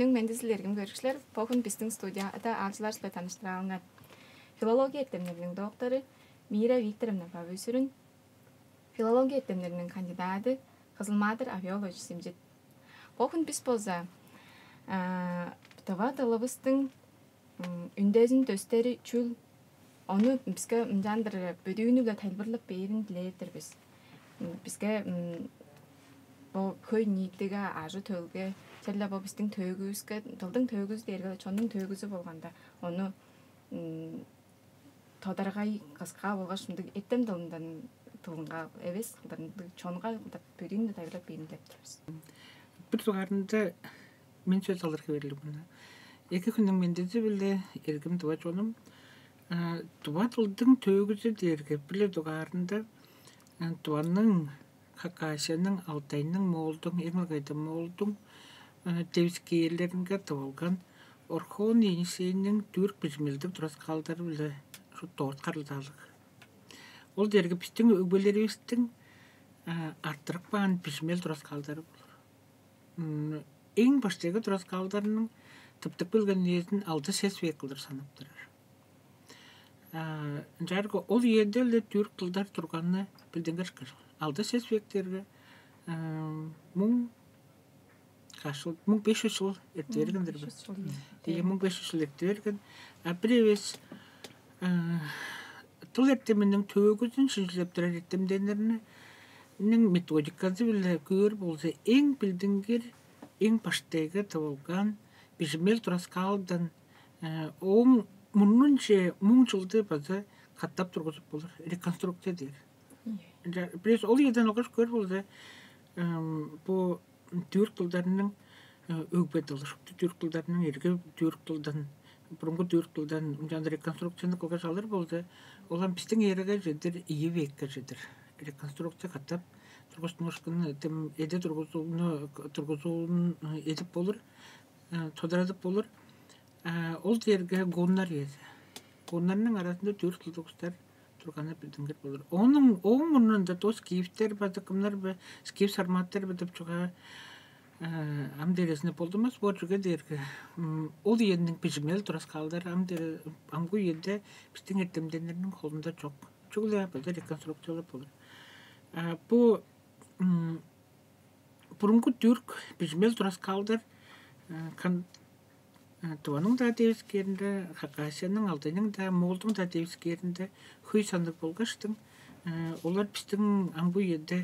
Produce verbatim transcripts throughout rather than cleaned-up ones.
Мендизи, эргим көрүкчүлер, бо хүн бистиң студияда аалчылар-биле таныштыралыңар. Филология эртемнериниң доктору Мира Викторовна Бавы-Сүрүн, филология эртемнериниң кандидады Кызыл-Маадыр Авиолович Симчит. Бо хүн бис болза тыва дылывыстың үндезин дөстери чүл, ону биске ынчандыр бөдүүнү-биле тайылбырлап бээрин дилээр-дир бис. Биске бо хөй-ниитиге, ажы-төлге, черле бо бистиң төөгүвүске, дылдың төөгүзү дээрге чоннуң төөгүзү болганда, ону тодаргай кыска болгаш мындыг эртем дылындан, дылынга эвес кылдыр, мындыг чонга кылдыр бөдүүнү-биле тайылбырлап бээрин дилеп тур бис. Бир дугаарында мен сөс алырга бээр-ле мен. Эки хүннүң мендизи-биле, эргим тыва чонум. Тыва дылдың төөгүзү дээрге бир-ле дугаарында Тываның, Хакасияның, Алтайның, Моолдуң, эң ылгайда Моолдуң девискээрлеринге тывылган Орхон Енисейниң түрк бижимелдиг тураскаалдары-биле шупту дорт харылзаалыг. Ол дээрге бистиң өгбелеривистиң арттырып каан бижимел тураскаалдары болур. Эң баштайгы тураскаалдарының тыптып келген үезин алды-сес век кылдыр санап турар. Ынчаарга ол үеде-ле түрк дылдар турганы билдингир ышкажыл. Алды-сес вектерге муң каш чыл, муң беш чүс чыл эрте берген-дир бе? Беш чүс чыл, ийе. Ийе, муң беш чүс чыл эрте берген. А бир эвес дыл эртеминиң төөгүзүн шинчилеп турар эртемденнерниң методиказы-биле көөр болза, эң билдингир, эң баштайгы тывылган бижимел тураскаалдан ооң мурнунче муң чылды база катап тургузуп болур, реконструкция дээр. Ынча бирээзи ол үеден алгаш көөр болза, бо түрк дылдарының өгбе дылы, шупту түрк дылдарының эрги түрк дылдан, бурунгу түрк дылдан ынчаан реконструкцияны кылгаш алыр болза, ол ам бистиң эрага чедир, ийи векке чедир реконструкция катап тургустунушкун, эде тургузууну, тургузуун эдип болур, тодарадып болур. Ол дээрге гуннар үези. Гуннарның аразында түрк дылдыг улустар турганы билдингир болур. Ооң, ооң мурнунда доо скифтер база кымнар бе, скиф сарматтар бе деп чугаа ам дээрезинде болдунмас боор, чүге дээрге ол үениң бижимел тураскаалдары ам дээрге, амгы үеде бистиң эртемденнерниң холунда чок. Чүгле база реконструкциялап болур. Бу бурунгу түрк бижимел тураскаалдар Тываның-даа девискээринде, Хакасияның, Алтайның-даа, Моолдуң-даа девискээринде хөй санныг болгаштың, олар бистиң амгы үеде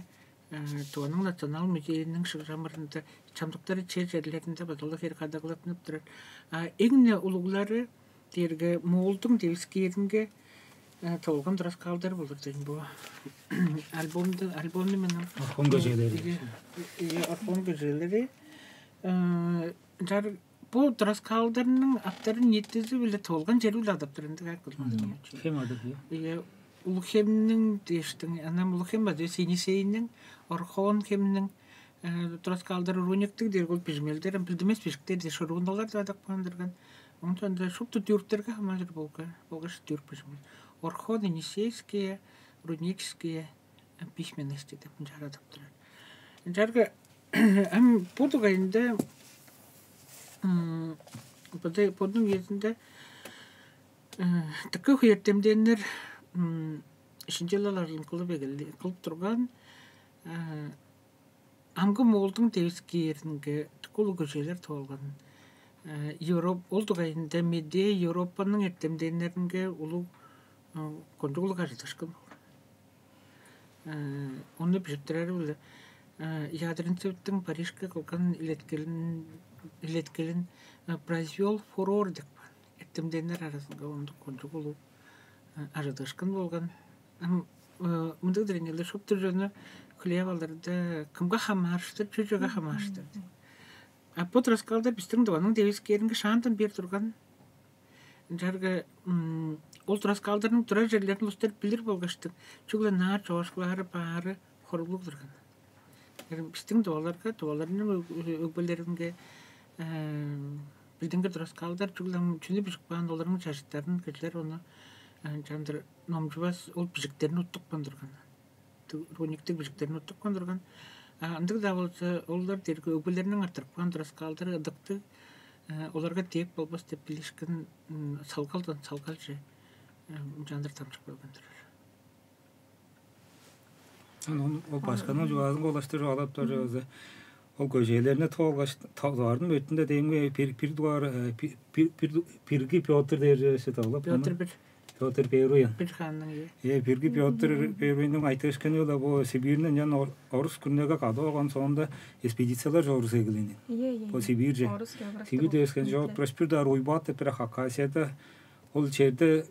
Тываның Национал музейиниң шыгжамырында, чамдыктары чер-черлеринде база-ла хере кадагалаттынып турар. А эң-не улуглары дээрге Моолдуң девискээринге тывылган тураскаалдар болур дейн бо. Альбомду, альбомну мен Орхон көжээлери. Ийе, Орхон көжээлери. Ынчаар бо тураскаалдарның аттарын ниитизи-биле тывылган чери-биле адап турар, ындыг ак кылдыр. Хем адап, ийе. Ийе, Улуг-Хемниң дээштиң, ынам Улуг-Хем база Енисейниң, Орхон-Хемниң тураскаалдары, руниктиг дээрге ол бижимелдер, ам билдинмес бижиктер дээш, руналар деп адап каан турган. Оон соонда шупту түрктерге хамааржыр болгаш түрк бижимел. Орхон-енисейские рунические письменности деп ынчаар адап турар. Ынчаарга ам бо дугайында бодуң үезинде дыка хөй эртемденнер шинчилел ажылын кылып эгелди, кылып турган. Амгы Моолдуң девискээринге дыка улуг көжээлер тывылган. Европа, ол дугайында медээ Европаның эртемденнеринге улуг, кончуг улуг ажыдыышкын болган. Ону бижиттирери-биле Ядринцевтиң Парижке кылган илеткелин, илеткелин произвёл фурор деп каан. Эртемденнер аразынга ондук кончуг улуг ажыдыышкын болган. Ам мындыг диреңелер шупту чонну хүлээп алырда, кымга хамаарыштыр, чүжеге хамаарыштыр. А бо тураскаалдар бистиң Тываның девискээринге шаандан бээр турган. Ынчаарга ол тураскаалдарның турар черлерин улустар билир болгаштың, чүгле ынаар чоокшулары баары хоруглуг турган. Бистиң тываларга, тываларның өгбелеринге билдингир тураскаалдар чүгле чүнү бижип каан, оларның чажыттарын кижилер ону чандыр номчувас, ол бижиктерин уттупкан турган. Руниктиг бижиктерин уттупкан турган. А ындыг-даа болза, олар дээрге өгбелериниң арттырып каан тураскаалдары ыдыктыг, оларга дээп болбас деп билишкен салгалдан салгалче ынчаандыр дамчып келген турар. Ол башкының чугаазынга улаштыр чугаалап турар чүве. Ол көжээлерни тоолгаш, товарның бетинде дээм бир бир дугаар бирги Петр дээр чүве тавылап. Петр бир. Петр Первый. Бир ханның. Э, бирги Петр Первыйның айтыышкыны ла бо Сибирьни ынчан орус күрнеге кады болган соонда экспедициялар чорус эгелээн. Бо Сибирьже. Сибирь дээшкен жок, просто бир даар уйбаат деп бир Хакасияда ол черде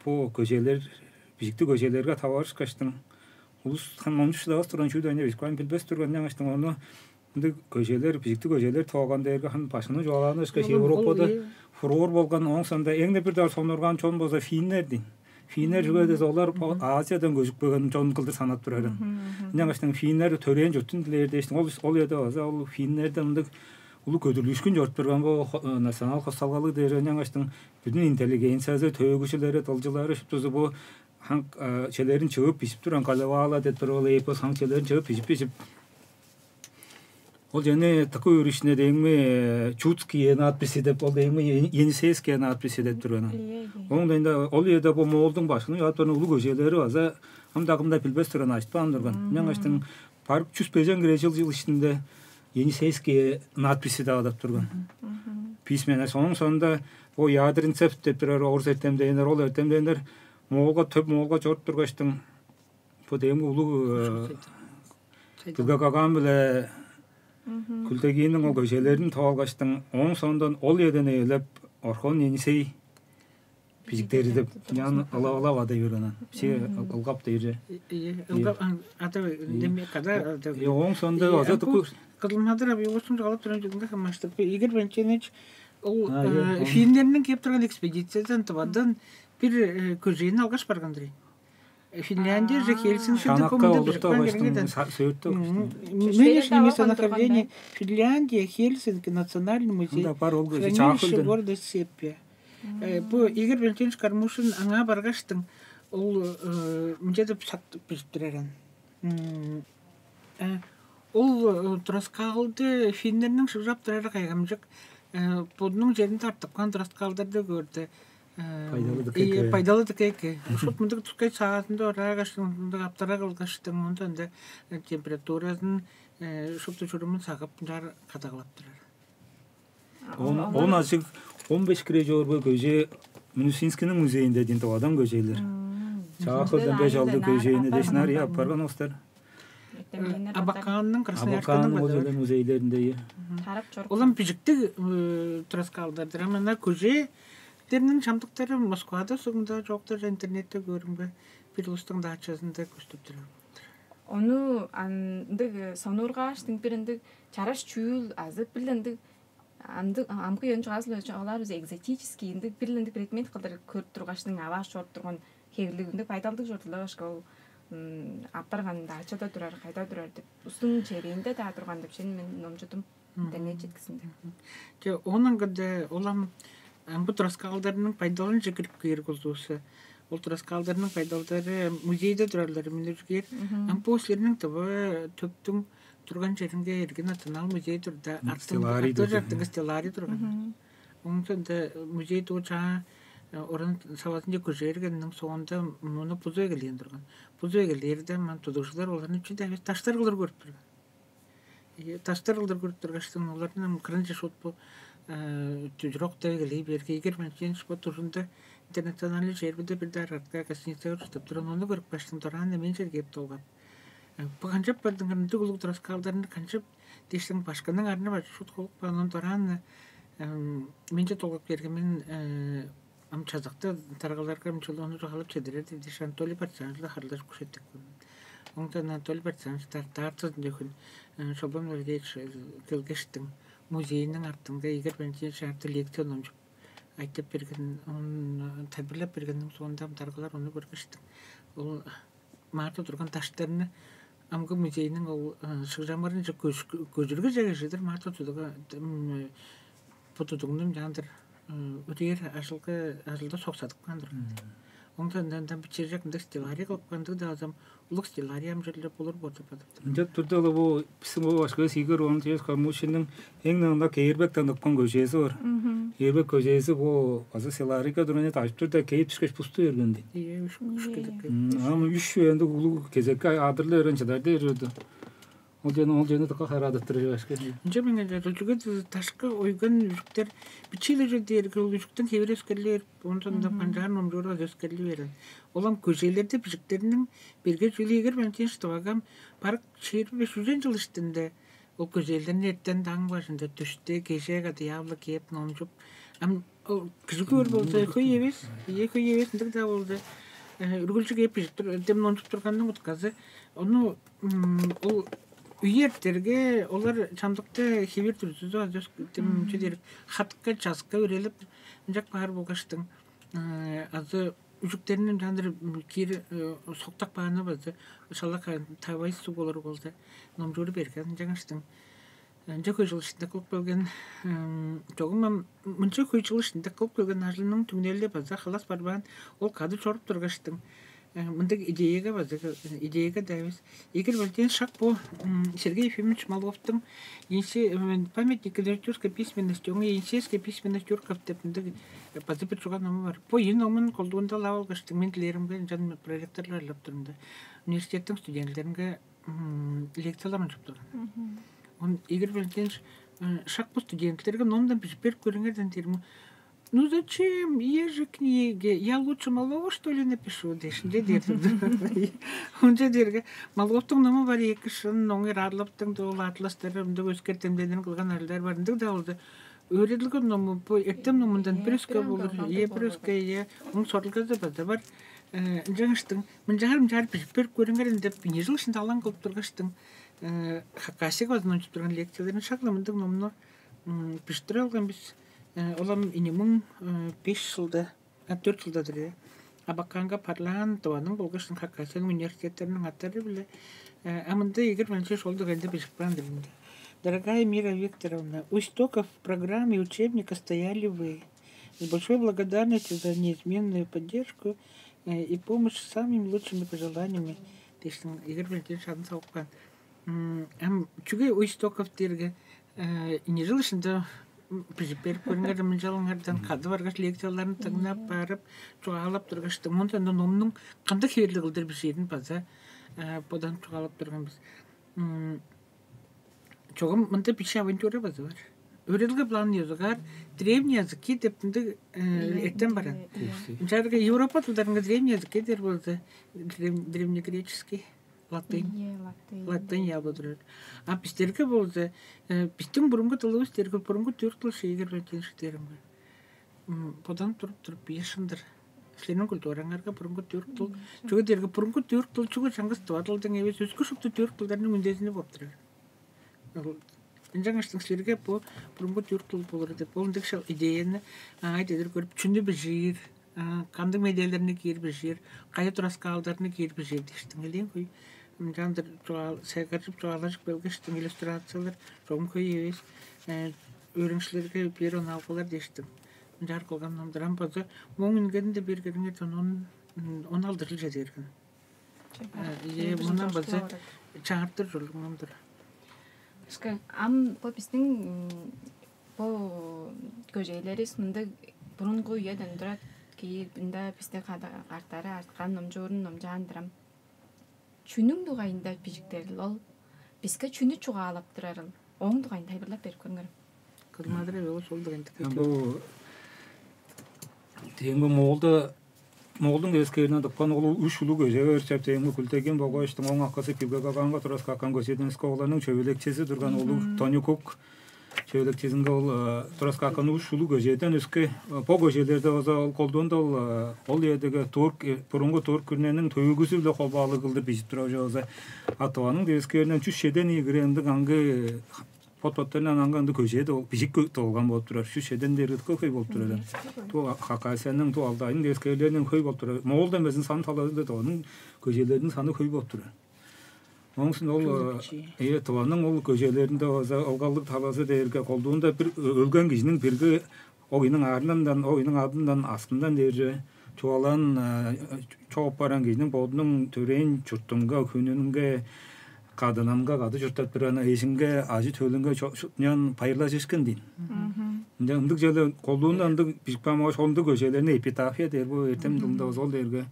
бо көжелер, бижиктиг көжелерге таварышкаштың улус хам ончу шыдавас турган чүү дайны бишкан билбес турган аңаштың ону ындыг көжелер, бижиктиг көжелер тооган дээрге хам башкының чугаалааны ышкаш Европада фурор болган оң сонда эң бир даар сонурган чон болза финнер дейн. Финнер чүге десе олар Азиядан көжүп келген чон кылдыр санап турар. Ынчангаш финнер төрээн чуртун дилээр дээштиң. Ол ол эде база ол финнерде ындыг улуг көдүрлүүшкүн чоруп турган бо национал хосталгалыг дээр ынчангаштың бүдүн интеллигенциясы, төөгүчүлери, дылчылары шуптузу бу ханг челерин чыгып бижип турган Калевала деп туруп ол эпос ханг челерин чыгып бижип бижип ол жана тыкы өөрүшүнө дээңми Чудские надписи деп ол дээңми Енисейские надписи деп турган. Оң дайында ол жерде бу Моолдуң башкының жаап турган улуг көжелери база ам дагымда билбес турган айтпаан турган. Мен аштың барып чүс бежен кире жыл жыл ишинде Енисейские надписи деп адап турган. Письмена. Сонун сонунда о Ядринцев деп турар орус эртемдейнер, ол эртемдейнер Моолга төп Моолга чоруп тургаштың бо дээми улуг Билгагаган биле Күлдегиниң ол көжелерин тоолгаштың оң соондан ол эден ээлеп Орхон Енисей бижиктери деп ян ылап ылап ада юрганан. Че ылгап дейже. Ылгап ада деме када. Оң соонда ада Кызылмадыр абиосун жалап туран жүгүнге хамаштып Игорь Валентинович ол финнерниң кеп турган экспедициядан тывадан бир көжейин алгаш барган дыр. Финляндия же Хельсинки Шанакка олурту баштың сөөртө баштың. Нынешнее местонахождение Финляндия, Хельсинки, Национальный музей. Анда бар ол көзү Хранилище чаакылды. Города Сеппе. Бу Игорь Валентинович Кармушин аңаа баргаштың ол мынча деп сактып бижип тураран. Ол тураскаалды финнерниң шыгжап турары кайгамчык. Бодунуң черинде артып каан тураскаалдарды көрдү. Пайдалыдык эки. Пайдалыдык эки. Шут мындык тускай саазында ораагаш, мындык аптара кылгаштың, онда ында температуразын, шупту чурумун сагып, ынчаар кадагалап турар. Он, он ажыг, он беш кире жоорбой көже Минусинскийниң музейинде дин товадан көжелер. Чаахылдан беш алды көжейни дешнар я апарган остар. Абаканның Красноярскының Абаканның ол базары. Жерде музейлеринде. Тарап чорук. Улам бижиктиг тураскаалдардыр. Ам ана көжелерниң чамдыктары Москвада сугунда жоктор интернетте көрүмге бир улустуң дачазында көстүп турар. Ону андыг сонургааштың бир ындыг чараш чүүл азы бир ындыг амгы ён чугаазыл алар биз экзотический ындыг бир ындыг предмет кылдыр көрүп тургачтың авааш чоруп турган хевирлиг ындыг байдалдыг чордулар башка ол аппарган дачада турар кайда турар деп устун черинде да турган деп шен мен номчудум интернет четкисинде. Че онун кыда улам амгы тураскаалдарының пайдалынча кирип кээр кулдууса ол тураскаалдарының пайдалдары музейде турарлар миниргер ампуослерниң тыва төптүң турган черинге эргин национал музей турда артын Стелларий артын турган. Артын стелларий турган. Оңсонда музей дуу чаа орун савазынче көжээргенниң соонда муну бузу эгелээн турган. Бузу эгелээрде ман тудугжулар оларны чүнде эвес таштар кылыр көрүп турган. Таштар кылыр көрүп тургаштын оларны кырынче шут бу түжүрөктө эгелей берге эгер мен чен шпо тужунда интернациональный жербиде бир даар артка гостиницага уштап туран ону көрүп каштым дораан мен жерге кеп долгап. Бу канчап бардың ындыг улуг тураскаалдарны канчап дээштиң башкының арны бар шут холуп каанын дораан менче долгап берген мен ам чазакта таргаларга ам чулууну чугаалап чедирер деп дээш Анатолий Партизанович харлажып күшеттик. Оңда Анатолий Партизанович дартаартызын дөхүн Шолбан Валерьевич келгештиң музейниң артынга Игорь Валентинович арты лекция номчуп айтып берген, он тайбырлап бергенниң соонда ам таргалар ону көргештиң. Ол Марта турган даштарны амгы музейниң ол шыгжамырынче көжүргү жагыжыдыр Марта тудуга бу тудугнум жаандыр үдээр ажылга ажылда соксадып каан турган. Оң сандандан бичежек ындыг стелларий кылып кандыг-даа азам улуг стелларий амчырлы болур болду бадыптым. Ынча турда-ла бу бистиң бу башкывыс Игорь Валентинович Кармушинниң эң ынак Ээрбектен ыпкан көжээзи бар. Ээрбек көжээзи бу база стелларийга турган эди, ажып турда кээп түшкеш пусту берген дейт. Ие, үш Ие. Кышкыдык. Ам үш ындыг улуг кезекке адырлы берген чыдар дээр үрдү. Ол жана ол жана дыка хараадыттыр башка. Ынча мен эле чүге дашка ойган үжүктер бичииле же дээрге ол үжүктүн хевир өскерлер, ондан да Мгм. Канчаар номчуурга өскерли берен. Олам көжээлерде бижиктериниң берге чүүлү эгер мен тынчтывагам барык чыыр беш үжен жыл иштинде ол көжээлерни эртен даң бажында түштү, кежээ кады яавла кээп номчуп. Ам ол кижи көөр болза хөй эвес, ие хөй эвес ындыг-даа болза үргүлчү кээп бижип тур, дем номчуп турганның утказы ону м, ол үе эртерге олар чамдыкта хевир дүрзүзү азы дем чү дээрик хатка часка өрелип ынчак баар болгаштың азы үжүктерин ынчаандыр киир соктак бааны базы шалак тавай суг болур болза номчууру берген ынчангаштың ынча хөй жыл ишинде кылып келген чогум мынча хөй жыл ишинде кылып келген ажылының түңнели база халас барбаан ол кады чоруп тургаштың мындыг идеяга база идеяга да эвес Игорь Валентинович шак бу Сергей Ефимович Маловтуң памятник литературной письменности оңа Енисейская письменность тюрков деп мындыг база бир чуган ному бар. Бу ийи номун колдуунда алып алгаштың мен дилеримге ынчан проректорлар ырлап турумда университеттиң студентилеринге лекциялар ончуп турган. Он Игорь Валентинович шак бу студентилерге номдан бижип берип көрүңерден дээрим. Ну зачем? Есть же книги. Я лучше малого, что ли, напишу? Дешинче дээрдим. Онча дээрге Маловтуң ному бар эки шын, оңур арлаптың да ол атластары ымдык өскертемденин кылган арлар бар. Ындыг да болду. Өөредилген ному бу эртем номундан бир өске болур. Е бир өске е. Оң сорулгазы база бар. Ынчангыштың мынчаар мынчаар бижип берип көрүңер деп бини жыл ишинде алаң кылып тургаштың Хакасияга базын ончуп турган лекцияларын шак-ла мындыг номну бижиттирип алган бис. Олам инимиң беш жылда, а төрт жылдадыр э. Абаканга парлаан дываның болгаш Хакасияның университеттериниң аттары биле. А мында эгер менче шол дегенде бижип каан диринде. Дорогая Мира Викторовна, у истоков программы и учебника стояли вы. С большой благодарностью за неизменную поддержку и помощь с самыми лучшими пожеланиями. Дээштиң эгер менче шадын салып каан. Ам чүге у истоков дээрге не жыл ишинде бижип берип көрүңер мынчалыңардан кады баргаш лекцияларын тыңнап барып чугаалап тургаштың мында номнуң кандай хевирлиг кылдыр бижээрин база бодан чугаалап турган бис. Чогум мында биче авантюра база бар. Өөрелге план языгаар древние языки деп мындай эртен баран. Ынчаарга Европа тылдарынга древние языки дээр болза древнегреческий латынь. Латынь явы турар. А бистерге болза биздин бурунгу тылыбыз дерге бурунгу түрк тыл шейгер бетен шитерим бар. Бодан туруп туруп бие шындыр. Силерниң культураңарга бурунгу түрк тыл. Чүге дерге бурунгу түрк тыл чүге чаңгыс тывадылдың эвес өскө шупту түрк тылдарның үндезини болуп турар. Ынчангаш силерге бу бурунгу түрк тыл болур деп ол ындыг шал идеяны аңай дедир көрүп чүнү бижиир, кандыг медиаларны киир бижиир, кайы тураскаалдарны киир бижиир диштиң элээн кой. Ынчаандыр чугаал сайгаржып чугаалажып келгештиң иллюстрациялар чогум кой эвес. Өөрүңчүлерге бир онаалгалар диштиң. Ынчаар кылган номдурам база моң үнгенин де бергериңер он он алты жыл чеде берген. Ие мундан база чаартыр жолуңнан тура. Ишке ам бо биздин бо көжейлерибиз мындай бурунгу үеден турат кийи мында бизде картары арткан номчуурун номчаандырам. Чүнүң дугайында бижиктерил ол биске чүнү чугаалап турарыл? Ооң дугайында тайылбырлап берип көрүңөр. Кызмадыр эве ол шол дегенди. Бу Теңби Моолда Моолдуң эскерине тыпкан ол үш улуг көже өрчеп теңби күлтеген болгоштуң оң аккасы пилгегаганга турас каккан көседен сколаның чөбелекчиси турган улуг Тонюкук чөбелекчизинге ол турас каккан үш улуг көжеден өске бо көжелерде база ол колдуунда ол ол эдеге турк бурунгу турк күрнениң төгүгүзү биле холбаалыг кылдыр бижип турар болза атываның девискеринден чүс чеден ийи грамдык аңгы Бот-боттарындан аңгы ындыг көжээ дол-, бижик кө-, долган болуп турар. Шү шеден дээрге хөй болуп турар. Ту Хакасияның, ту Алтайның девискээлеринен хөй болуп турар. Моол демезин сан талазында да оның көжээлеринин саны хөй болуп турар. Оңсун ол э тываның ол көжээлеринде база ылгалдыг талазы дээрге колдуунда бир ө-, өлген кижиниң бирги ол кижиниң арнындан, ол кижиниң адындан, астындан дээрже Чугаалаан чоп баран кижиниң бодунуң төрээн чуртунга, хүнүнге, кадынынга, кады чурттап турган эжинге, ажы-төлүнге чо- чо- ынчан байырлажыышкын дийин. Ынчан ындыг чүве, колдуунда ындыг бижип каан болгаш, ондуг көжээлерни эпитафия дээр, бо эртем дылында болза ол дээрге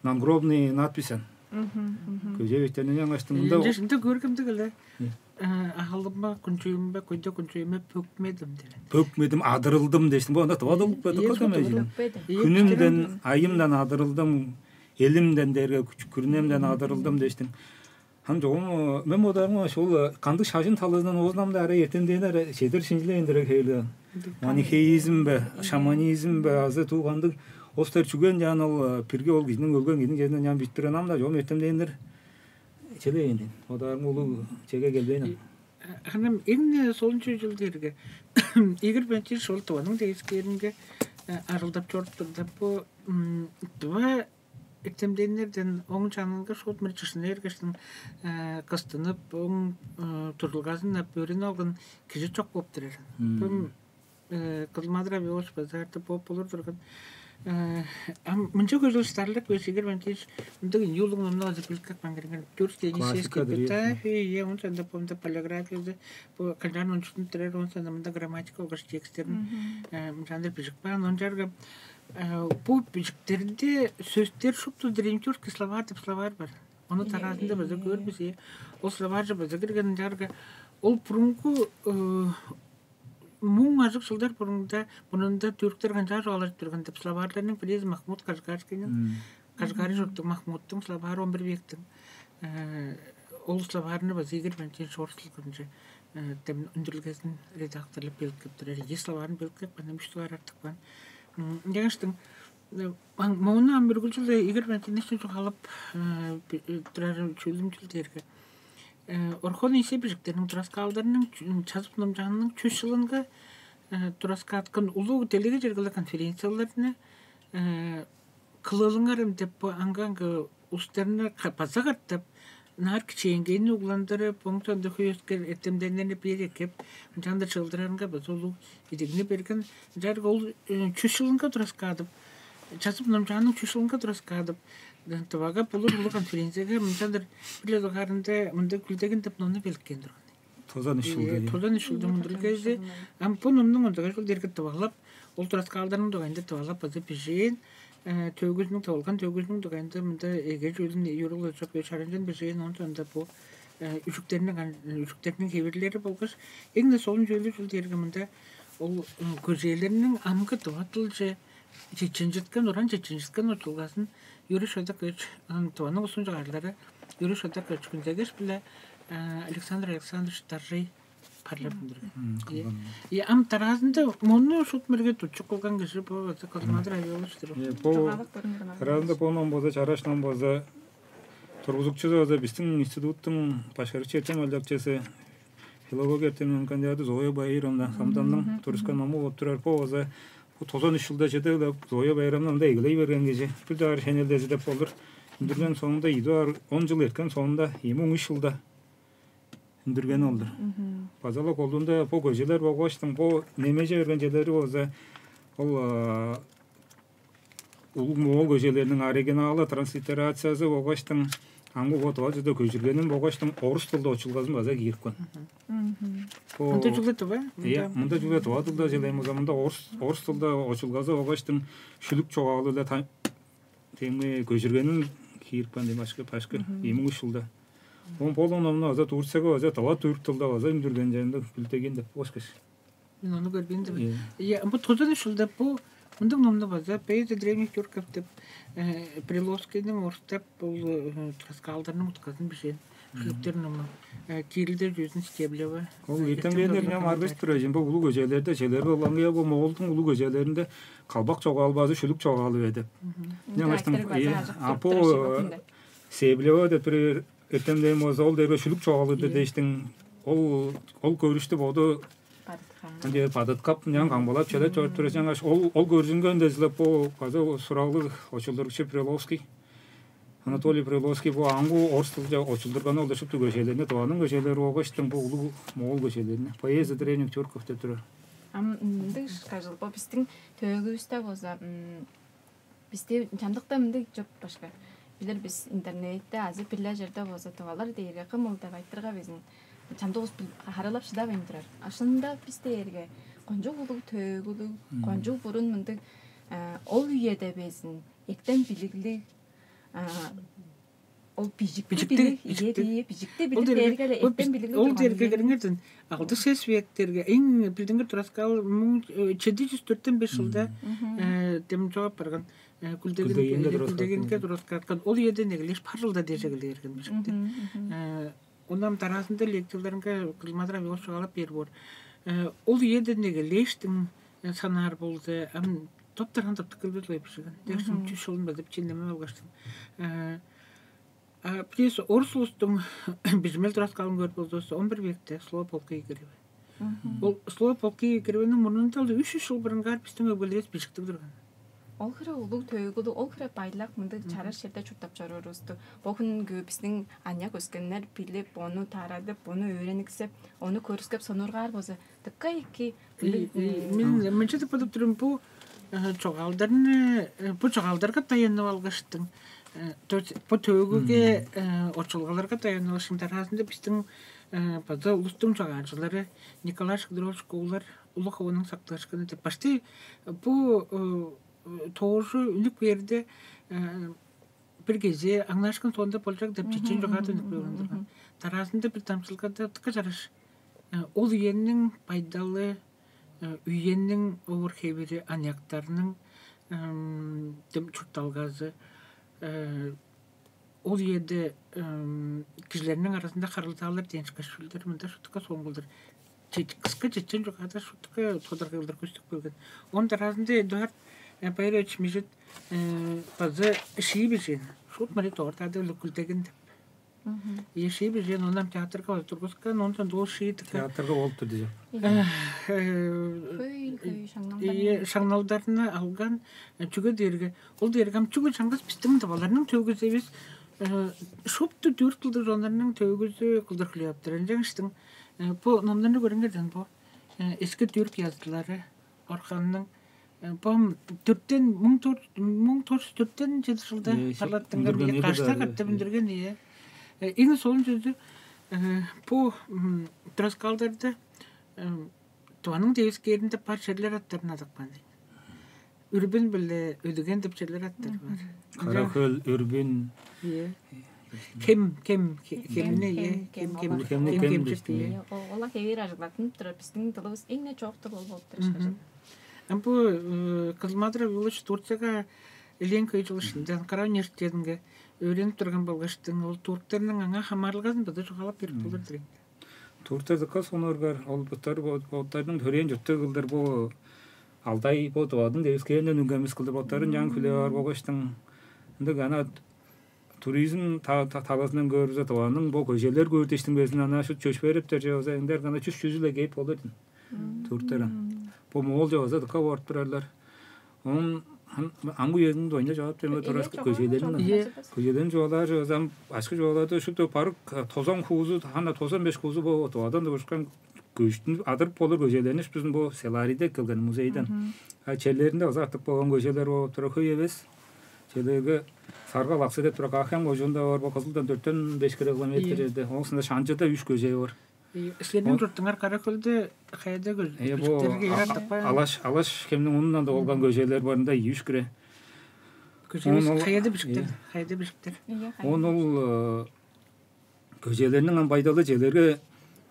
надгробный надпись аан. Көжээ беттеринде ынчангаш мында Ынча ынча көргөмдүг эле. Э, Аалымба, күнчүюмбе, көйде күнчүюмбе пөкмедим деген. Пөкмедим, адырылдым дээштиң. Бо анда тывадылып Ийе, кадыкка да чок, эмежин. Пөкпедим. Ийе, Хүнүмден, айымдан адырылдым, элимден дээрге күч- күрүнемден адырылдым дээштиң. Хан чогум мен бодаарымга ошол кандыг шажын талазынан оозунамда ара эртемден ара чедир шинчилээн дирек хейле. Манихеизм бе, шаманизм бе, азы туу кандыг остар чүген жаан ол бирге ол кижиниң өлген кижиниң жеринден жаан биттирген ам да чогум эртемденнер чеде эндин. Бодаарым улуу чеге келбейн ам. Ханам эң солунчу жыл дээрге Игорь Валентинович ол тываның девискээринге арылдап чоруптурда бу тыва эртемденнерден оң чанынга шуут мыр чышына эргештин кыстынып, оң турулгазын ап өөрүнүп алган кижи чок болуп турар. Бум Кызылмадыр Абиолович база артып бооп болур турган. Ам мынча көжүл старлык беш Игорь Валентинович мындыг инюлуг номну азы билкек бангырган тюркский классика дыр, эпитафия, он сонда помда полиграфиясы бу канчаан ончутун турар, он сонда мында грамматика болгаш тексттерин мынчаандыр бижик баан. Ончарга бу бижиктеринде сөстер шупту древнетюркский словарь деп словарь бар. Ону тараазында база көрбүс. Ол словарь же база кирген ынчаарга ол бурунгу муң ажык жылдар бурунда мурнунда түрктер канчаар чугаалажып турган деп словарьларның бирээзи Махмуд Кашгарскийниң, Кашгари чурттуг Махмудтуң словары, он бир вектиң ол словарны база Игорь Валентинович орус тилинче тем үндүрүлгезин редакторлап белгип турар. Ийи словарын белгип каан, үч дугаар артык каан. Ынчангаштың мону ам үргүлчүле Игорь Валентиновичтен чугаалап турар чүүлүмчүл дээрге Орхон ийсе бижиктерниң тураскаалдарының чазып номчаанының чүс чылынга тураскааткан улуг делеге чергелиг конференцияларны кылылыңарым деп бо аңгы-аңгы устарны база катап наар кичээнгейни угландырып, оң соонда хөй өскер эртемденнерни бээр эккеп, ынчаанда чыылдырарынга база улуг идигни берген. Ынчаарга ол чүс чылынга тураскаадып, чазып номчааның чүс чылынга тураскаадып, Тывага болур улуг конференцияга мынчандыр бир-ле дугаарында мында Күлдегин деп номну беликкен турган. Тозан үш чылда. Тозан үш чылда мындыргайзы ам бу номнуң ондуга чыл дерге тывалап, ол тураскаалдарның дугайында тывалап база бижээн, төөгүзүнүң тывалган төөгүзүнүң дугайында мында эге чүүлүн юрул өчөп чаранчан бижээн, он сонда бу үжүктерниң үжүктерниң хевирлери болгаш эң-не солун чүүлү чүл дээрге мында ол көжээлерниң амгы тыва дылче чеченчиткен, уран чеченчиткен учулгазын Юрий Шодак Тываның улустуң чыгаарлары Юрий Шодак Күндегеш биле Александр Александрович Даржый парлап үндүрген. Ам тараазында мону шут мерге тутчук кылган кижи бу Калмадыр Айболович-тур. Бу тараазында бу ном болза, чараш ном болза, тургузукчузу болза биздин институттуң башкарыкчы эртем алчакчысы, филология эртеминиң кандидаты Зоя Баировна Самданның турускан ному болуп турар. Бо болза бу тозан үч жылда чеде ылап Зоя Байрамны ында эгелей берген кижи. Бир даар шенелдези деп болур. Үндүрген соонда идуар он жыл эрткен соонда эми он үч жылда үндүргени ол-дур. База-ла колдуунда бо көжелер болгаштың, бо немеже берген черлери болза, ол улуг моол көжелерниң оригиналы, транслитерациясы болгаштың, аңгы бо тыва чүзде көжүргенин болгаштың орус тылда очулгазын база киирипкен. Мында чүгле тыва? Мында чүгле тыва тылда желейм болза, мында орус орус тылда очулгазы болгаштың шүлүк чогаалы-ла теңми көжүргенин киирипкен дейм башкы башкы эми ушулда. Он полон омну аза Турцияга аза тыва түрк тылда аза үндүрген жеринде Күлтеген деп ошкаш. Мен ону көрбейн деп. Иә, бу тозан үш жылда бу мындың номну база Поэзия древних тюрков деп Приловскийниң орустап бул тураскаалдарның утказын бижээн. Шүлүктер ному. Кирилде жүзүн Стеблева. Ол эртемденнер ням арбес тура жин бу улуг көжелерде желер болган бу Моголдун улуг көжелеринде калбак чогаал базы шүлүк чогаалы бе деп. Ням аштым. А по Стеблева деп бир эртемден болза ол дерге шүлүк чогаалыдыр дээштиң. Ол ол көрүштү боду ынча бадыткап, мынчан камгалап чедет чоруп тура жаңаш ол ол көрүзүнгөн дезилеп бу база сураглыг очулдурукчу Приловский. Анатолий Приловский бу аңгу орус тылча очулдурган ол шупту көжелерне тыванын көжелери болгоштуң бу улуу моол көжелерине поэзия древних тюрков деп турар. Ам ындыг кажыл бо биздин төөгүбүстө болза Бисти чамдыкта мындыг чоп башка. Билер бис интернетте азы бир-ле черде болза тывалар дээрге кым ол деп айтырга безин чамдык улус бил- харалап шыдавайн турар. А шынында бис дээрге кончуг улуг төөгүлүг, кончуг бурун мындыг, а, ол үеде безин эктен билиглиг, а, ол бижикти Бижикти- билиг, ие бижикти Ол билиг дээрге дээрге эле ол эктен бис- билиглиг ол турган дээрге үени. Кириңерден алды сес вектерге эң билдингир тураскаал муң чеди жүз төрттен беш жылда Мгм. э, дем жоп барган э, Күлдегин Күлдегинге тураскаал күлдегинге тураскаткан ол үеден эгелеш пар жылда дээш эгелээрген бижикти. Мгм, мгм. Э, Ондан дараазында лекцияларынга кызмадыр авиос чугаалап бээр боор. Э, Ол үеден эгелээштиң санаар болду. Ам топтарган таптык кылбыт лой бижигин. Дээшим Мгм. чүс шолун бадып чиндеме алгаштым. Э, А плюс орус улустуң бижимел тураскалын көрүп болзувусса, он бир векте слово полка Игорева. Мгм. Ол слово полка Игореваның мурнунда ол үч жүз жыл бурунгаар биздин өгбелерибиз бижиктиг турган. Ол хире улуг төөгүлү, ол хире байлак мындыг чараш черде чурттап чоруурувусту бо хүнгү биздин аныяк өскеннер билип, ону тарадып, ону өөрениксеп, ону көрүскеп сонургаар болза, дыка эки. Мен мынча деп бодуп турум, бу э, чогаалдарны э, бу чогаалдарга даянып алгаштың. Э, то есть бу төөгүге э, очулгаларга даянып алгаштың. Дараазында биздин э, база улустуң чогаалчылары Николай Шагдырович Куулар улуг хованың сактыышкыны деп башты бу э, тоожу үнүк берди э, бир кеже аңнаашкын соонда болчак деп чечен жогаат үнүк болгондурган. Дараазында бир дамчылгада тыка жарыш э, ол үениң байдалы, э, үениң овур хевири, аныяктарның эм, дем чуртталгазы, э, ол үеде эм, кижилерниң арасында харылзаалар дээн шкашүүлдер мында шутка соңгулдур. Кыска чечен жогаада шутка тодаргайлар көстүп келген. Он дараазында Эдуард э, Байрович Мижит э, база шии бижээн. Шут мари тоортаада үлүкүлдеген деп. Мгм. Ие шии бижээн, онам театрга база тургускан, ондан доо шии тыка. Театрга болуптур дижик. Э, э, Хөй, хөй шаңналдар. Ие шаңналдарны алган э, чүге дээрге ол дээрге ам чүге чаңгыс биздин деп аларның төгүзебиз э, шупту дүрт кылдыр жоннарның төгүзү кылдыр хлептер. Жаңыштың э, бу номнарны көрүңерден бу э, эски түрк язытлары Орханның э, бом төрттен муң тор муң тор төрттен жети жылда Э, шо- парлаттыңар үндүрген бие эди кашта даа, катта э. Бүндүрген ие. Эң солун сөзү э, бу м, тураскаалдарда э, Тываның девискээринде бар черлер аттарын адыкпан дейн. Үрбүн биле өдүген деп черлер аттар бар. Кара хөл, үрбүн. Ие. Кем, кем, ке- кемне ие. Кем, кем, Кем, кем, кем, кем, кем, кем, кем, кем, кем, кем. Ол ала хевээр ажыглатын турар. Биздин дылыбыз эң не чоок тыл ол болуп турар шажын. Ам бу э, Кызмадыр Абилович Турцияга элээн кый жыл ышында Анкара университетинге өөренип турган болгаштың ол турктарның аңаа хамаарылгазын база чугаалап берип болур дирейн. Турктар дыка сонуургар, ол буттар боттарының төрээн чурттуг кылдыр бу Алдай бо Тывадың девискээринден үнгемис кылдыр боттарын чаан хүлээп аар болгаштың. Ындыг ана туризм та- та- талазынан көөрүзү Тываның бо көжелер көөр дештиң безин ана шут чөш бериптер же болза ындар гана чүс чүзүле кээп болур дин. Турктар. Бо моол же болза дыка бооруп турарлар. Оон амгы үезин дойна жаап берме турас көжелерин. Көжелерин жоолаар же болза башкы жоолаада шупту барык тозон хуузу, хана тозон беш хуузу бо Тывадан дывышкан көштүн адырып болур көжелерни шуптузун бо Селариде келген музейден. А черлеринде база артык болган көжелер болуп тура хөй эвес. Черлерге Сарга Лаксы деп тура Каахен кожуунда бар бо Кызылдан дөрттен беш километр жерде. Оң сында Шанчыда үш көже бар. Силерниң чуртуңар Кара-Хөлдө каяда Э, бо көжүлүктөргө а- артык а- бар? Алаш Алаш кемнің онундан да болган көжелер барында үш кире. Көжүлүк Ону- каяда бишиктер? Каяда бишиктер? Iya, Он ол көжелерниң ам байдалы желерге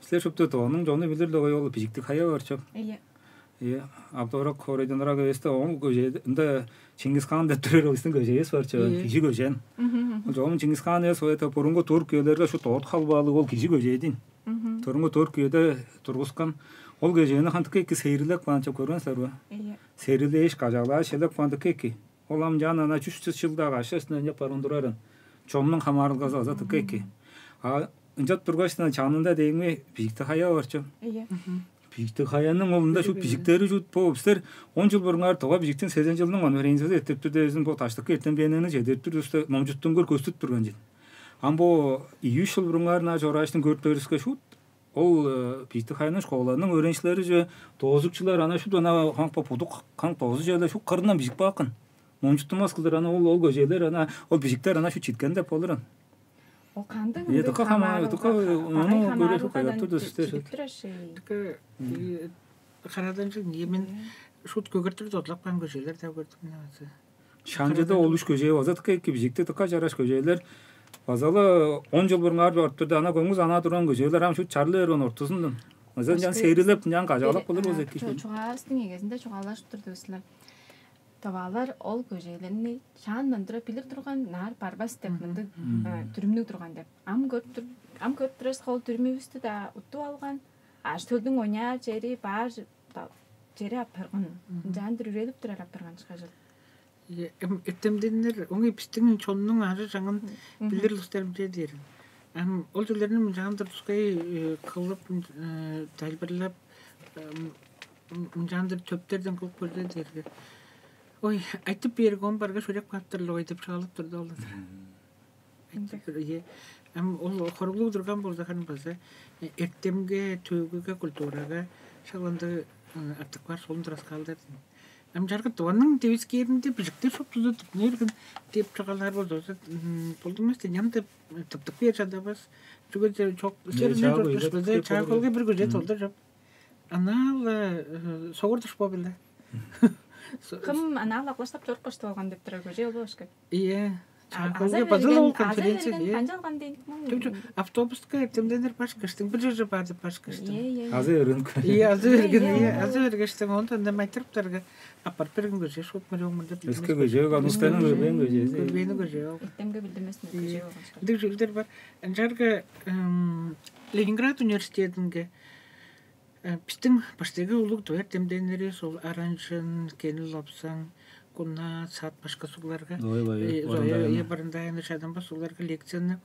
силер шупту тооның жону билир да ой ол бижиктик хая бар чоп. Iya. Е, Абдорак хоройдон ырак эвесте оң көже ында Чингис хаан деп турар ол истин көжеес бар чоп. Iya. Кижи көжен. Ол жогум Чингис хаан эвес ол это бурунку турк үелерге шу тоот халбаалыг ол кижи көжедин. Тургу турк үеде тургускан ол көжени хантык эки сейрилек баан чоп көргөн силер бе? Iya. Сейрилээш кажаалааш элек баан дык эки. Ол ам жаан ана чүс чыс жылдагы ашасына ынчап барган турарын. Чомнуң хамаарылгазы база тыка эки. А ынчап тургаш чанында дээми бийикти хая бар чоп. Iya. Бийикти хаяның олунда шут бижиктери шут бо бистер он жыл бурунгаар тога бижиктин сезен жылдың конференциясы эртип тур дээзин бо таштыкка эртемденени чедирип тур уста номчуттунгур көстүп турган жыл. Ам бо ийүш жыл бурунгаар на чорааштын көрүп бериске шут ол бийикти хаяның школаның өөренчилери же доозукчулар ана шут ана хаңпа будук хаңпа озу жерле шут кырынан бижип бааккын. Мончуттунмас кылдыр ана ол ол көжээлер ана ол бижиктер ана шу читкен деп болур ан. Ол кандыг Е, ындыг дыка хамаа, хамаарылга, дыка, ха- ону багай көөрү хамаарылгадан хөй, ортурду чи- истер чидип сөз. Турар шей. Дыка э, хараданчыг ниемин шут көгөртүр додлап каан көжээлер да көрдүм мен азы. Шанчыда ол үш көжээ база дыка эки бижикти дыка жараш көжээлер. Базалы он жыл бурунгаар ортурду ана көңүз ана турган көжээлер ам шут чарлы берген ортузундан. Озан жан Башкы- серилеп, жан кажалап болур болза эки. Чугаавыстың эгезинде чугаалашып турду силер. Таваалар ол көжээлерни шаандан тура билир турган, наар барбас деп мындыг э, дүрүмнүг турган деп. Ам көрүп тур, ам көрүп турарыс ол дүрүмүбүстү да уттуп алган. Аш төлдүң оняар чери баар ж- та- чери апарган. Ынчаандыр үрелип турар апарган чыгажыл. Эм эртемденнер оңой бистиң чоннуң ары жаңын билир улустарым дээрин. Ам ол чүлерни мынчаандыр тускай кылып, тайлбырлап, мынчаандыр төптерден кылып көрдө дээрге. Ой, айтып берген барга шөрек кааптырлы ой деп чаалап турду ол. Айтып бер, ие. Ам ол хоруглуг турган болза харын база эртемге, төөгүге, культурага шаланды артык бар солун тураскаалдар. Ам жаргы дыванның девискээринде бижиктер шуптузу тыпныргын деп чугаалаар болза болдумас ням деп тыптык бээр чадабас. Чүге чок серине чаакылга бир көже толду жоп. Анаал согурдуш бо биле. Кым анаал аглаштап чоруп каштып алган деп турар көже ол башка. Ие. Чаакылга базыл ол конференция ие. Канча алган дейн. Автобуска эртемденер баш кыштың бир жерже барды баш кыштың. Азы өргөн. Ие, азы өргөн. Ие, азы өргөштүң онда анда майтырыптарга апарып берген көже шуут мөрөң мында. Өскө көже анустайын өргөн көже. Көрбени көже. Эртемге билдимес көже. Дик жүлдер бар. Жарга Ленинград университетинге бистиң баштайгы улуг дуэр демденнери сол аранчын, кенил лопсаң, куна, саат башка сугларга Зоя Барындаевна чадамба сугларга лекцияны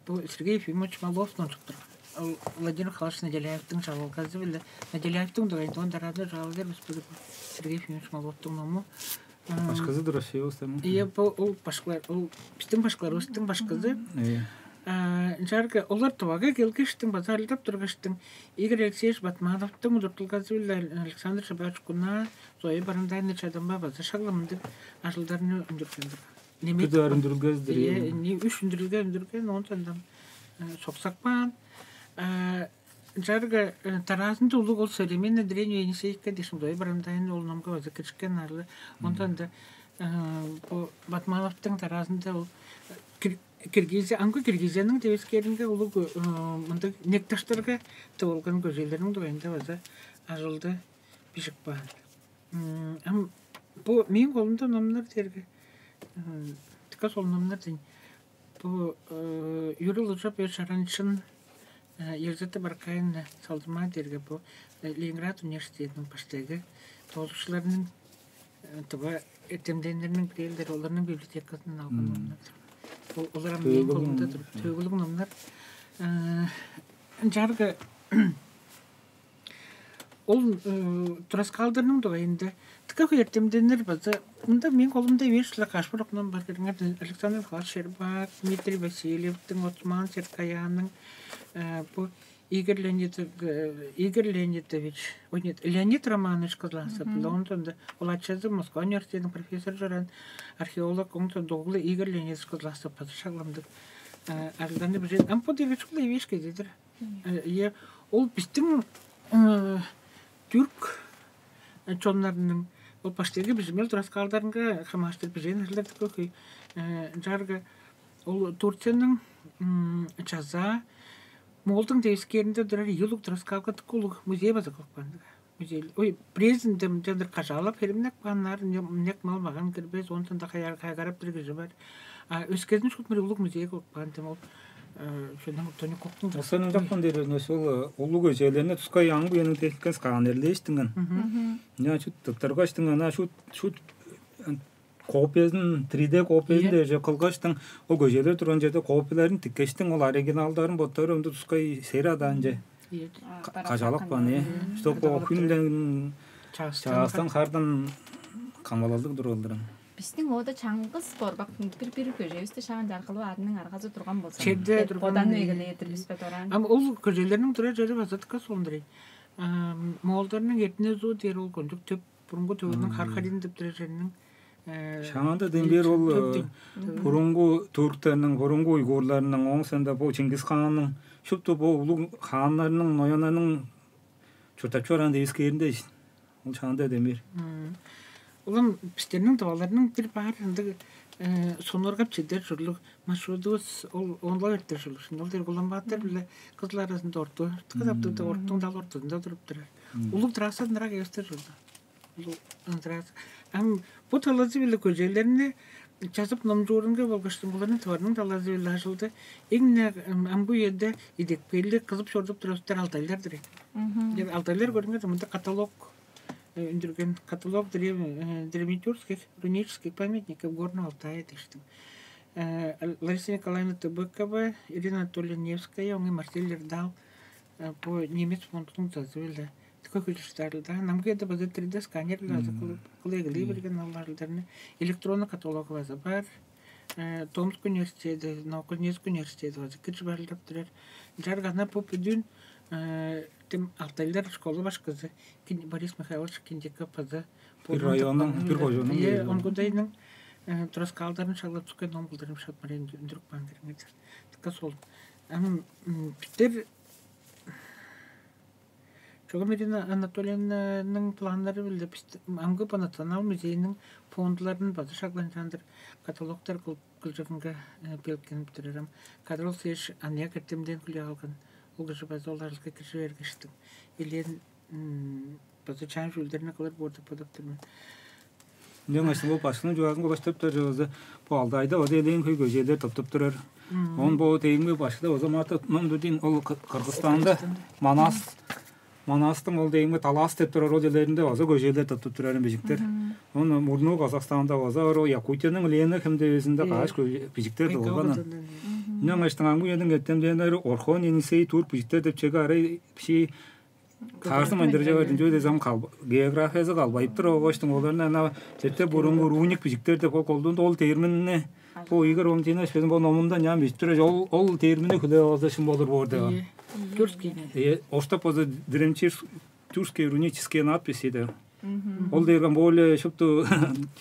бу Сергей Ефимович Малов нончуктур. Ол Владимир Михайлович Наделяевтың жалалгазы биле Наделяевтың дугайында он дараазы жалалдар бис билип Сергей Ефимович Маловтың ному. Башкызы-дыр вообще остальные. Ие бу ол башкылар, ол бистиң башкыларыбыстың башкызы. Ие. Жарга олар Тывага келгештиң база арылдап тургаштың Игорь Алексеевич Батмановтың удуртулгазы-биле Александр Шабаевич Куна, Зоя Барандайна чадамба база шагламдыг ажылдарны үндүргендир. Немек Күдө үндүрүлгездир. Ие, не үш үндүрүлге үндүрген, он сандан соксак баан. Жарга тараазында улуг ол современный древний Енисейка дешим Зоя Барандайна ол номга база киришкен арлы. Ондан да бу Батмановтың тараазында ол Киргизия, аңгы Киргизияның девискээринге улуг мындыг некташтарга тывылган көжелерниң дугайында база ажылды бижип каан. Ам бу мээң колумда номнар дээрге тыка сол номнар дейн. Бу Юрий Лужап Шаранчын Елизавета Баркаевна салдырмаа дээрге бу Ленинград университетиниң баштайгы тоолукчуларының тыва эртемденнерниң бирээлдери оларның библиотекасынан алган номнар. Ол олар ам мээң колумда тур. Төгүлүг номнар. Жарга ол тураскаалдарның дугайында тыка эртемденнер база мында мээң колумда эвеш-ле каш бир окнам бар киреңер Александр Михайлович Щербак, Дмитрий Васильевтің, Осман Серкаянның бу Игорь Леонидов, Игорь Леонидович, ой нет, Леонид Романович Кызласов, онда ол ачазы Москва университетінің профессоры жаран археолог, онда доглы Игорь Леонидович Кызласов база шагламдык арылданы бижен. Ам бу дегечик эвеш кезедир. Е, ол биздин түрк чоннарының ол баштайгы бижимел тураскаалдарынга хамаштыр бижен эрлердик көй жарга ол Турцияның жаза Моолдуң девискээринде турар ийи улуг тураскаалга дыка улуг музей база кылып каан. Музей, ой, Брезинде мынчандыр кажаалап херимнеп кааннар, нек мал маган кирбес, онтан да кайгарап бир кижи бар. А өскезин шут мыри улуг музей кылып каан дем ол шөнөн тони коктун. Осенин жапкан дээринес ол улуг өжээлерне тускай аң буянын теккен сканерлештиңген. Мгм. Я шут тыптыргаштың ана шут шут копиясын три дэ копиясын Ийе. Дээже кылгаштың ол көжелер турган жерде копияларын тиккештиң ол оригиналдарын боттары ымды тускай сер адаанче Ийе. Кажалап каан э. Чтоб ол хүнден Чаастан чаастан хардан камалалдыг тургалдырын. Биздин ода чаңгыс борбак бир бир көжебизде шаан жаркылып арының аргазы турган болса. Черде деп турган Одан э. Эгелеетир бизбе дораан. Ам ол көжелерниң турар жери база тыка сондурай. Моолдарның этине зуу дээр ол кончук төп бурунгу төвүнүн хархарин деп турар жеринин Шаанда дембер ол бурунгу турктарның, бурунгу уйгурларның, оң санда бо Чингис хаанның, шупту бо улуг хааннарның, нояннарның чурттап чораан девискээринде ол шаанда дембер. Улам бистерниң тываларның бир баар ындыг сонургап чедер чурлуг маршрутувус ол оңлап эртер чурлуг. Ол дер Улан-Баатар биле Кызыл аразында орту, кызаптыгда ортуң дал ортузунда туруп турар. Улуг трасса ындырак эвестер чурлуг. Улуг ындырак. Ам бу талазы биле көжээлерни жазып номчуурунга болгаш тываларның талазы биле ажылды эң амгы үеде идекпээлиг кызып чорудуп турар алтайлар-дыр. Алтайлар көрүңер, мында каталог үндүрген, каталог древнетюркских рунических памятников Горного Алтая дээштиң. Лариса Николаевна Тыбыкова, Ирина Анатольевна Невская, оңай Марсель Эрдал, бо немец фондунуң зазы биле көкүлүштарлда. Намгыда база три дэ сканерлер азы кылыглый берген алларларны, электронный каталогу база бар. Томск университети, Новокузнецк университети база киржип ажылдап турар. Жаргана бу бүдүн тем алтайлар школа башкызы Борис Михайлович Киндиков база бир районнуң, бир кожоонуң онгудайның тураскаалдарын шаглап чүккен ном кылдырым шапмарен үндүрүп каан кириңер. Така сол. Ам биттер Чогум Ирина Анатольевнаның планнары биле бис амгы по национал музейниң фондуларын база шагланчаандыр каталогтар кылып кылчырынга белгенип турарам. Кадрол сеш аныяк эртемден хүлээ алган ол кижи база оларылга киржи бергештиң. Элен база чаан чүүлдерни кылыр боор деп бодап тур мен. Ынчангаш бо башкының чугаазын кылаштырып турар чыгызы бо алды айда ода элээн хөй көжээлер тыптып турар. Он бо дейимге башкыда база марта номду дейн ол Кыргызстанда Манас Манастың ол дейимге Талас деп турар ол жерлеринде база көжээлер тыптып турарын бижиктер. Он мурнуу Казахстанда база ор Якутияның Лена хемдевезинде кааш бижиктер долган. Ынчангаш тыңамгы үениң эртемденнери Орхон Енисей тур бижиктер деп чеге арай биши Таарзым андыржавар динчүве дезем географиязы калбайып тур оҕоштуң оларны ана четте буруннур уник бижиктер деп ол колдуунда ол терминни бо Игорь Валентинович безин бо номунда ням бижип тур ол ол термини хүлээп алза шын болур боор деп. Тюркскийни. Оштоп болза древнечеш тюркские рунические надписи деп. Ол дээрген более шупту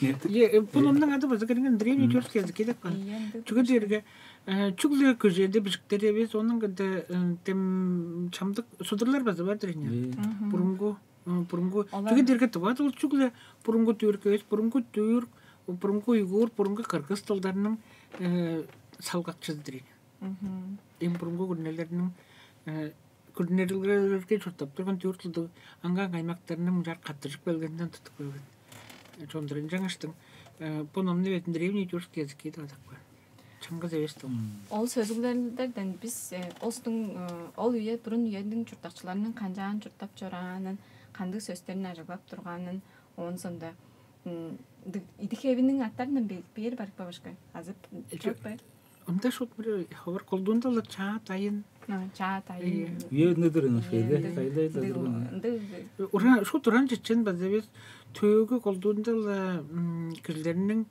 Е, э, бу номнуң ады база кирген древний тюркский язык деп кан. Чүге дээрге чүгле көжеде бижиктер эвес, онуң кыда тем чамдык судурлар база бар дирен. Бурунгу бурунгу чүге дээрге тыват ол чүгле бурунгу түрк эвес, бурунгу түрк, бурунгу уйгур, бурунгу кыргыз тылдарының салгакчызы дирен. Эм бурунгу күрнелерниң күрнелерге чурттап турган төрт ылдыг аңгаан каймактарының мынчаар каттыжып келгенинден тутуп келген. Чондурун жаңаштың бу номну бетин древний тюркский язык деп адап көр. Чаңгыз эвес дыл. Ол сөзүглерден биз э, остуң э, ол үе бурун үениң чурттакчыларының канчаан чурттап чораанын, кандыг сөстерин ажыглап турганын, оон сонда идик эвиниң аттарынан бээр барып бабышка азып чок бе? Ында шут бир ховар колдуунда-ла чаа дайын. Чаа дайын. Үе ындыдыр ынышпайда. Кайда Ындыг ындыг ындыг Ура шут уран чечен база бир төөгү колдуунда-ла кижилерниң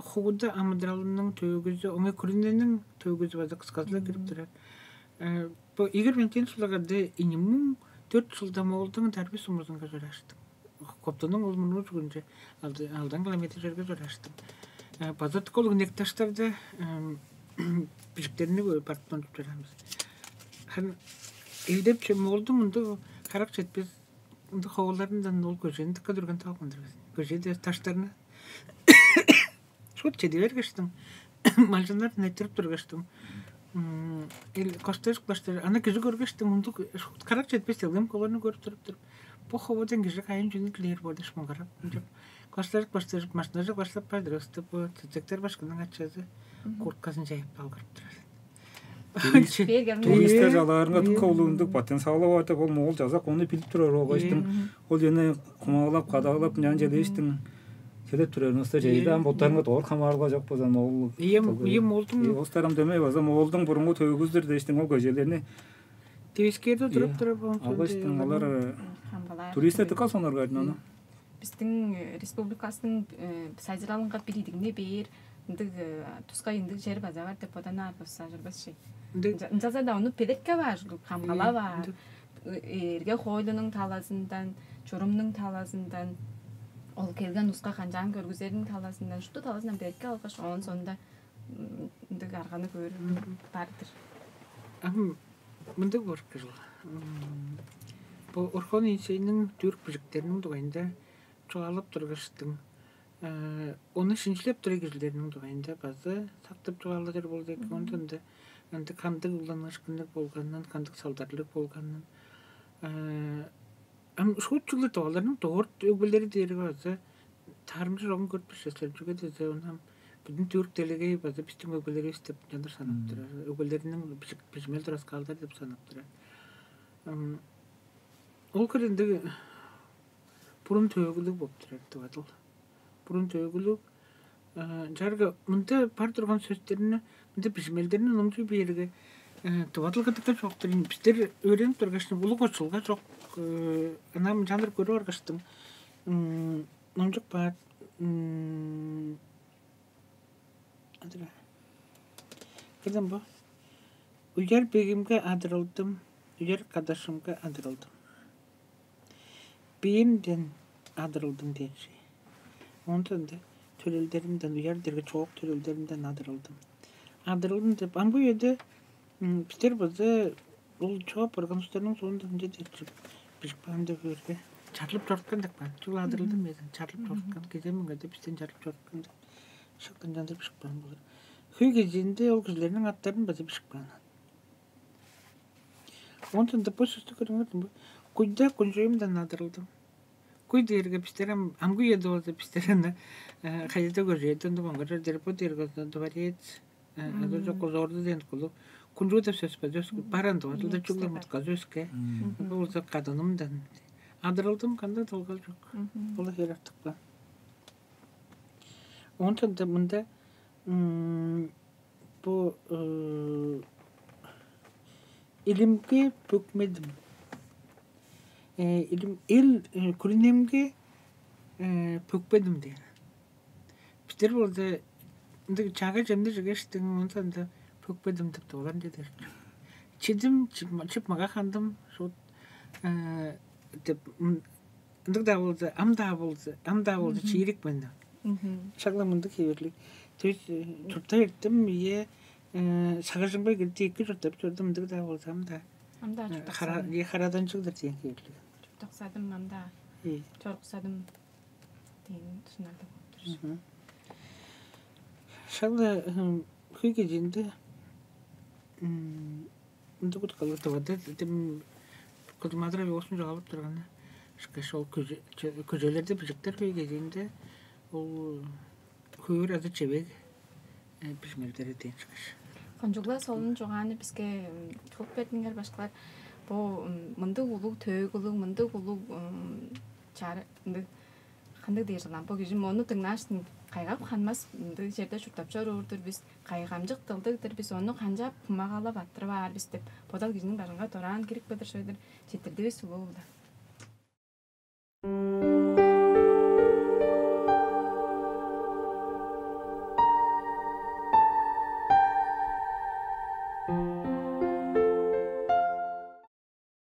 хууда амыдыралының төөгүзү, оңой күрүнениң төөгүзү база кысказыла кирип турар. Бу Игорь Валентинович улагады инимиң төрт жылда Моолдуң дарби сумузунга жараштым. Коптунуң ол мурнуу чүгүнче алдан километр жерге жараштым. База ол инек таштарда бижиктерни көрүп барып тончуп жарамыз. Хан элдепче Моолдуң ындыг карак четпес ындыг ховуларындан ол көжени дыкка дүрген талгандыр. Көжеде таштарны шут чеди бергештиң. Малчыннар нетирип тургаштың. Ил костожук баштар аны кижи көргештиң, мундук карак четпес делгем колорну көрүп туруп туруп. Бу ховудан кижи кайын жүнү килээр болду шмуңгарап деп. Костожук баштажып машинажык баштап бардыр ыстып бу цицектер башкының ачазы курткасын жайып алгырып турар. Туристтер жалаарынга дыка улундук потенциалы бар деп ол моол жазак ону билип турар болгайштың. Ол жана кумаалап кадаалап нян желештиң. Седеп турарыңызда жайдан боттарыңга доор хамаарылга жок болза моол. Ийем ийем олдуң. Остарым демей база моолдуң бурунга төгүздүр дештиң ол көжелерни. Девискерде туруп туруп алгаштың олар туристтер дыка соноргайдын аны. Биздин республикасының сайзыралынга бир идигне бээр ындыг тускай ындыг жер база бар деп боданаар болса ажырбасчы. Ынчалза да ону педетке баар, камгала баар. Эрге хоойлунуң талазындан, чурумнуң талазындан Ол келген улуска канчаан көргүзериниң талазындан, шупту талазындан белки алгаш, оон соонда ындыг арганы көөр бар-дыр. Ам мындыг боор кыжыл. Бо Орхон Иисейниң түрк бижиктериниң дугайында чугаалап тургаштың, ону шинчилеп турар кижилерниң дугайында база сактып чугаалажыр болду эки. Ондан да ынды кандыг уланыышкынныг болганын, кандыг салдарлыг болганын, ам шуут чүгле оларның дорт өгбелери дээрге база таарымча чогун көрүп бишеслер. Чүге дээзе, ону ам бүдүн түрк делегей база бистиң өгбелеривис деп ынчалдыр санап турар. Өгбелериниң бижик-, бижимел тураскаалдары деп санап турар. Ам ол хире ындыг бурун төөгүлүг болуп турар деп адыл. Бурун төөгүлүг. Чарга мында бар турган сөстерни, мында бижимелдерни номчуй бээрге, тывадыл кыдыкта чоктур. Бистер өөренип тургаш, улуг очулга чок. Ынам жаныр көрүп аргаштым. Номчук баат. Адыра. Кылдым бу. Уяр бегимге адырылдым, уяр кадашымга адырылдым. Биимден адырылдым дээш. Ондан да төрелдеримден, уяр дерге чоок төрелдеримден адырылдым. Адырылдым деп, ам бу үеде бистер база ол чоп барган устарның соонда ынча деп чүп бижип каан деп өрге чарлып чорткан деп каан. Чүл адырылдым эден, чарлып чорткан. Кеже мынга деп бистен чарлып чорткан деп шактан чандыр бижип каан болар. Хөй кезиинде ол кижилерниң аттарын база бижип каан. Онтон да бо сөстү көрүңөр. Куйда кунчуюмдан адырылдым. Куй дээрге бистер ам амгы үеде болза бистер аны кайда көржээди онда моңгорор дер бо дээрге дворец. Азы жок озоорду деген кулу. Кунчуу деп сөс бар, сөс бар анда базылда чугла мутказы өске. Болза кадынымдан адырылдым кандай долгал жок. Ол хер артык ба. Онтон да мында бу илимге пөкмедим. Илим эл күрүнемге пөкпедим деген. Бистер болза ындыг чага чемни жигештиң онтан да пөкпедим деп тугулар деди. Чидим чип мага хандым шут деп ындыг-даа болза, ам-даа болза, ам-даа болза чиирик мен. Шагла мындыг хеверлиг. То есть чуртта эртим ие сагыжымга кирди эки чурттап чордум ындыг-даа болза, ам-даа. Ам-даа чуртаксадым. Е хараданчыгдыр деген хеверлиг. Чуртаксадым ам-даа. Чоруксадым деген сунарда болуп тур. Шагла хөй кезинде Ындыг уткалыг тывада дем кызмадыр оосун чугаалап турганы ышкаш ол көжелерде бижиктер хөй кезиинде ол хөөр азы чевег бижмелдери дээн ышкаш. Кончугла солун чугааны биске чугуп бердиңер башкылар. Бу мындыг улуг төөгүлүг, мындыг улуг чары ындыг кандыг дээр жылан бо кижи мону дыңнааштын кайгап ханмас ындыг черде чурттап чоруур-дур бис. Кайгамчык дылдыг-дыр бис, ону канчап хумагалап аттырып аар бис деп бодал кижиниң бажыңга дораан кирип кыдыр шыйдыр четтирдивис улуу-ла.